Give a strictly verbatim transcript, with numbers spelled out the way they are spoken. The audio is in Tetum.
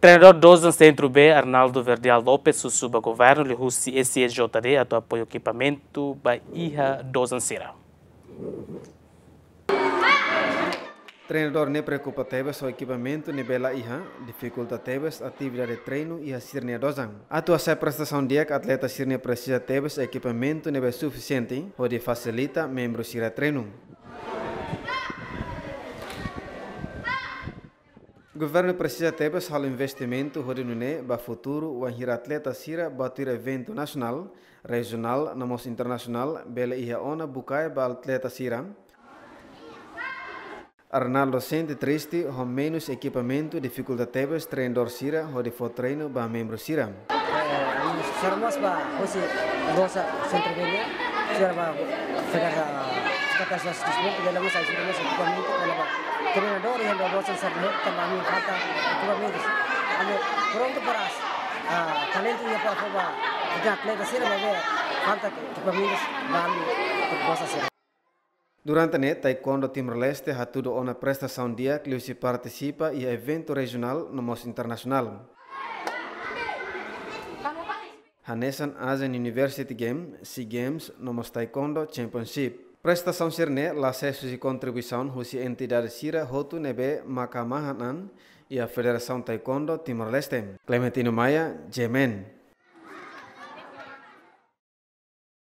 Treinadór dozan Sentru B, Arnaldo Verdial Lopes, husu ba governu liuhusi S E J D atu apoiu ekipamentu ba iha dozan sira. Treinadór ne'e preokupa tebes ho ekipamentu ne'ebé la iha, difikulta tebes atividade treinu iha sira-nia dozan. Atu hasai prestasaun di'ak, atleta sira-ne'e presiza tebes ekipamentu ne'ebé sufisiente hodi fasilita membru sira treinu. Governu presiza tebes halo investimentu hodi nune'e ba futuru, wainhira atleta sira bá tuir eventu nasionál, rejionál no mós internasionál, bele iha ona bukae ba atleta sira. Arnaldo sente triste ho menus ekipamentu, difikulta tebes treinadór sira hodi fó treinu ba membru sira. Eh, ami susar mós ba husi Dosa Sentru B nian, susar ba federa-, Federasaun Desportu, bele mós ajuda mós ekipamentu, bele ba treinadór iha Dosa Sentru B, tanba ami falta ekipamentu. Ami prontu para, ah, talentu iha para fó ba atleta sira, maibé falta ekipamentu ba ami Dosa sira. Durante ne'e, Taekwondo Timor-Leste hatudu ona prestasaun di'ak liuhusi partisipa iha eventu rejionál no mós internasionál, hanesan Asian University Game, SEA Games no mós Taekwondo Championship. Prestasaun sira-ne'e la sees husi kontribuisaun husi entidade sira hotu ne'ebé maka mahan an iha Federasaun Taekwondo Timor-Leste. Clementino Maia, G M N.